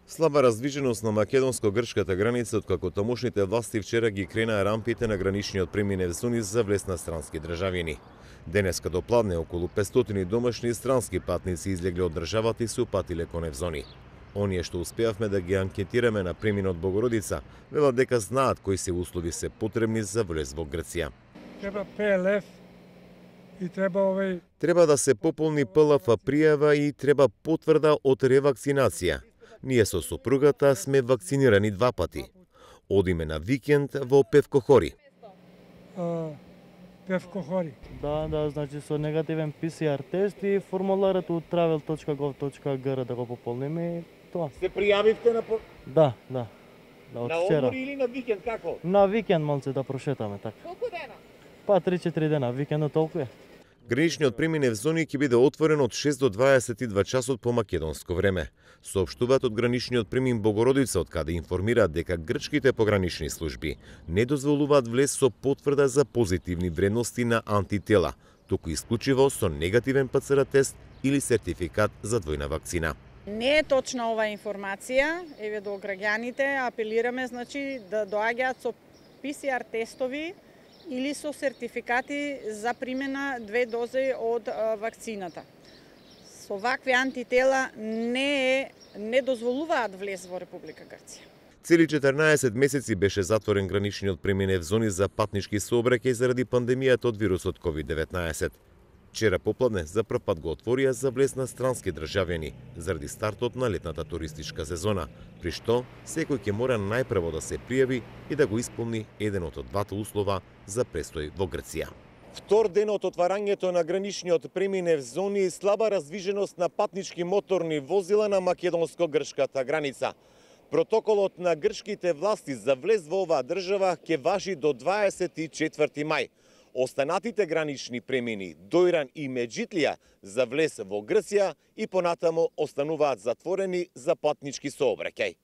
Слаба раздвиженост на македонско-грчката граница откако тамошните власти вчера ги кренаа рампите на граничниот преминев зони за влез на странски државјани. Денеска до пладне околу 500 домашни странски патници излегле од државата и се упатиле кон евзони. Оние што успеавме да ги анкетираме на преминот Богородица, велат дека знаат кои се услови се потребни за влез во Грција. Треба ПЛФ и Треба да се пополни ПЛФ пријава и треба потврда од ревакцинација. Ние со сопругата сме вакцинирани 2 пати. Одиме на викенд во Певкохори. Певкохори. Да, значи со негативен ПСР тест и формуларот од travel.gov.gr да го пополниме и тоа. Се пријавивте на Да, од вчера. одмор или на викенд како? На викенд малце да прошетаме така. Колку дена? Па 3-4 дена, викендот толку е. Граничниот преминев зони ќе биде отворен од 6 до 22 часот по македонско време. Соопштуваат од граничниот премин Богородица, од каде информираат дека грчките погранични служби не дозволуваат влез со потврда за позитивни вредности на антитела, туку исклучиво со негативен ПЦР тест или сертификат за двојна вакцина. Не е точна ова информација, еве до граѓаните апелираме да доаѓаат со ПСР тестови или со сертификати за примена 2 дози од вакцината. Со вакви антитела не дозволуваат влез во Република Грција. Цели 14 месеци беше затворен граничниот преминев зони за патнички сообраќај заради пандемијата од вирусот COVID-19. Вчера попладне за прв пат го отворија за влез на странски државјани заради стартот на летната туристичка сезона, при што секој ќе мора најпрво да се пријави и да го исполни еденот од двата услова за престој во Грција. Втор ден од отварањето на граничниот преминев зони и слаба раздвиженост на патнички моторни возила на македонско-грчката граница. Протоколот на грчките власти за влез во оваа држава ќе важи до 24 мај. Останатите гранични премини Дојран и Меджитлија за влез во Грција и понатамо остануваат затворени за патнички сообраќај.